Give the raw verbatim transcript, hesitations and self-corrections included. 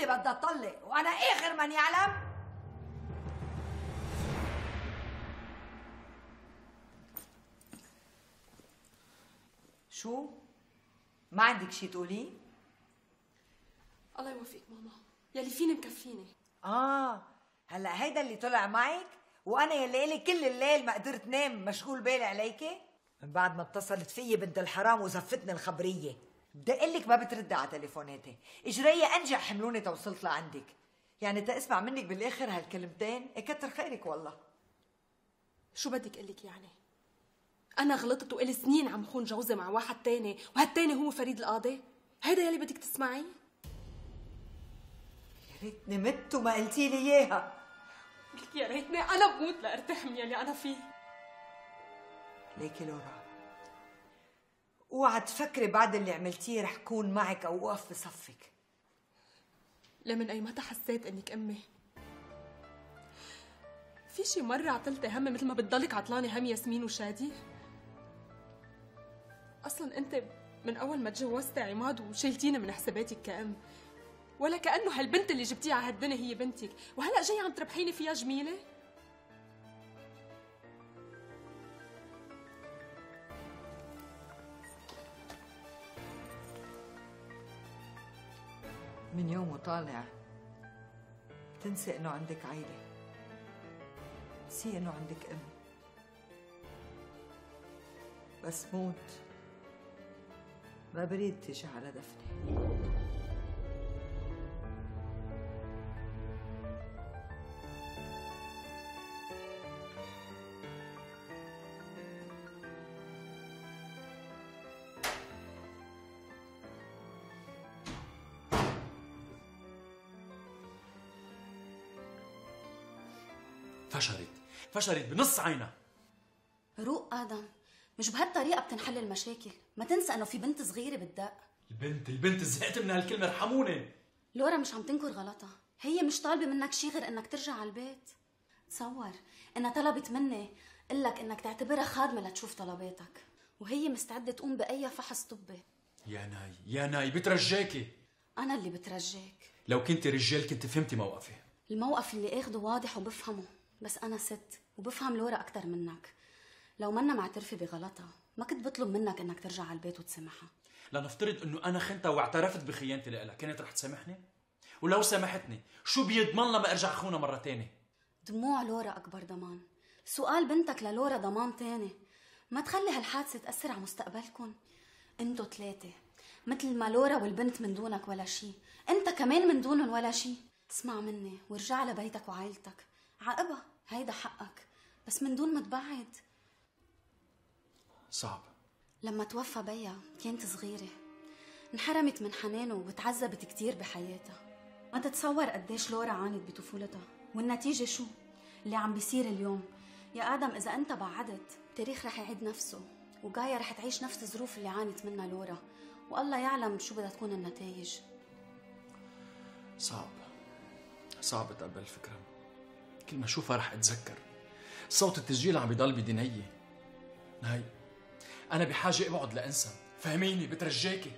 اللي بدها تطلق وانا اخر من يعلم. شو؟ ما عندك شي تقولي؟ الله يوفقك ماما، يلي فيني مكفيني. اه هلا هيدا اللي طلع معك وانا يلي الي كل الليل ما قدرت نام مشغول بالي عليكي؟ من بعد ما اتصلت فيي بنت الحرام وزفتني الخبريه، بدي اقول لك ما بتردي على تليفوناتي، اجرية انجح حملوني توصلت لعندك، يعني تا اسمع منك بالاخر هالكلمتين كتر خيرك والله. شو بدك اقول لك يعني؟ انا غلطت وإلي سنين عم خون جوزي مع واحد تاني، وهالتاني هو فريد القاضي؟ هيدا يلي بدك تسمعيه؟ يا ريتني مت وما قلتي لي اياها. قلت يا ريتني انا بموت لارتاح من يلي انا فيه. ليكي لورا، اوعى تفكري بعد اللي عملتيه رح كون معك او اوقف بصفك. لمن اي متى حسيت انك امي؟ في شي مرة عطلتي هم مثل ما بتضلك عطلانة هم ياسمين وشادي؟ اصلا انت من اول ما تجوزتي عماد وشيلتيني من حساباتك كأم، ولا كأنه هالبنت اللي جبتيها على هالدنيا هي بنتك، وهلا جاي عم تربحيني فيها جميلة؟ من يوم وطالع بتنسي انه عندك عيلة، نسي انه عندك ام. بس موت ما بريد تيجي على دفني. فشلت فشلت بنص عينها. روق آدم، مش بهالطريقة بتنحل المشاكل، ما تنسى انه في بنت صغيرة بتدق. البنت البنت زهقت من هالكلمة، ارحموني. لورا مش عم تنكر غلطها، هي مش طالبة منك شي غير انك ترجع على البيت. تصور انها طلبت مني قلك انك تعتبرها خادمة لتشوف طلباتك، وهي مستعدة تقوم بأي فحص طبي. يا ناي يا ناي بترجاكي. أنا اللي بترجاك. لو كنت رجال كنت فهمتي موقفي. الموقف اللي اخده واضح وبفهمه، بس أنا ست وبفهم لورا أكتر منك. لو منا معترفة بغلطها ما كنت بطلب منك انك ترجع على البيت وتسامحها. لنفترض انه انا خنتها واعترفت بخيانتي لها، كانت رح تسامحني؟ ولو سامحتني شو بيضمن لها ما ارجع خونها مرة تانية؟ دموع لورا أكبر ضمان. سؤال بنتك للورا ضمان تاني. ما تخلي هالحادثة تأثر على مستقبلكم. انتو ثلاثة مثل ما لورا والبنت من دونك ولا شي، انت كمان من دونهم ولا شي. اسمع مني وارجع لبيتك وعائلتك، عاقبها هيدا حقك، بس من دون ما تبعد. صعب. لما توفى بيا كانت صغيرة، انحرمت من حنانه وتعذبت كتير بحياتها. ما تتصور قديش لورا عانت بطفولتها، والنتيجة شو؟ اللي عم بيصير اليوم. يا آدم إذا أنت بعدت التاريخ رح يعيد نفسه، وجاية رح تعيش نفس الظروف اللي عانت منها لورا، والله يعلم شو بدها تكون النتائج. صعب صعب اتقبل الفكرة. كل ما اشوفها رح اتذكر صوت التسجيل عم بيضل بدنيي. نهاي انا بحاجة اقعد لانسى، فهميني بترجاكي.